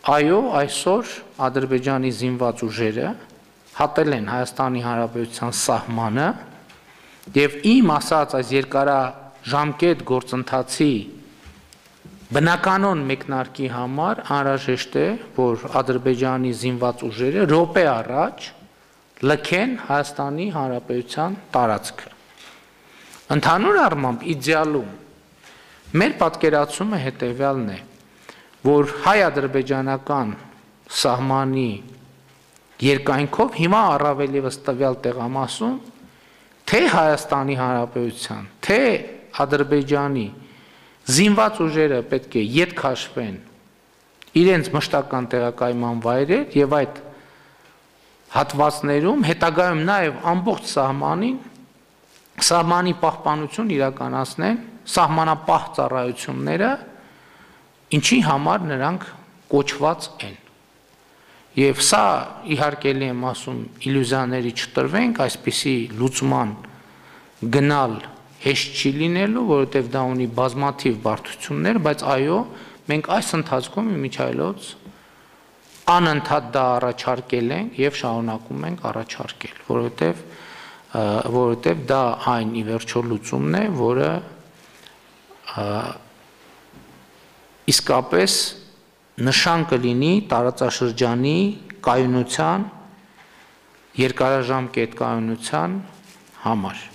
այո, այսօր Ադրբեջանի զինված ուժերը հատել են Հայաստանի Հանրապետության սահմանը եւ իմ ասած այս երկարաժամկետ գործընթացի բնականon մեկնարկի համար անհրաժեշտ է, որ Ադրբեջանի զինված ուժերը րոպե առաջ լքեն Հայաստանի Հանրապետության տարածքը։ Ընդհանուր առմամբ իդեալում մեր պատկերացումը հետևյալն է, որ հայ-ադրբեջանական սահմանի երկայնքով հիմա առավել ևս տվյալ տեղամասում թե Հայաստանի Հանրապետության, թե Ադրբեջանի զինված ուժերը պետք է ետ քաշվեն իրենց մշտական տեղակայման վայրեր եւ այդ հատվածներում հետագայում նաեւ ամբողջ սահմանի պահպանություն իրականացնեն սահմանապահ ծառայությունները, ինչի համար նրանք կոչված են։ Եվ սա իհարկե եմ ասում իլյուզիաների չտրվենք, այսպիսի լուծման գնալ հեշտ չի լինելու, որովհետև դա ունի բազմաթիվ բարդություններ, բայց այո, մենք այս ընթացքում իմիջիայլոց անընդհատ դա առաջարկել ենք եւ շարունակում ենք առաջարկել, որովհետև դա այն ի վերջո լուծումն է, որը իսկապես նշան կլինի տարածաշրջանի կայունության, երկարաժամկետ կայունության համար։